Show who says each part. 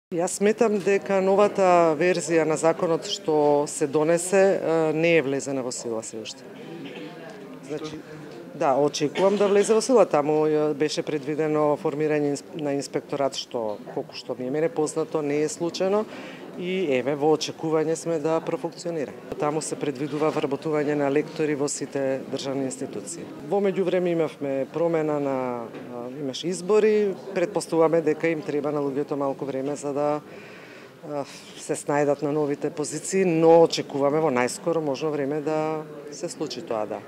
Speaker 1: Јас сметам дека новата верзија на законот што се донесе не е влезена во сила се уште. Значи, да, очекувам да влезе во сила. Таму беше предвидено формирање на инспекторат што колку што ми е мене познато не е случајно и еве во очекување сме да профункционира. Таму се предвидува вработување на лектори во сите државни институции. Во меѓувреме имавме промена имаше избори, претпоставуваме дека им треба на луѓето малку време за да се снајдат на новите позиции, но очекуваме во најскоро можно време да се случи тоа, да.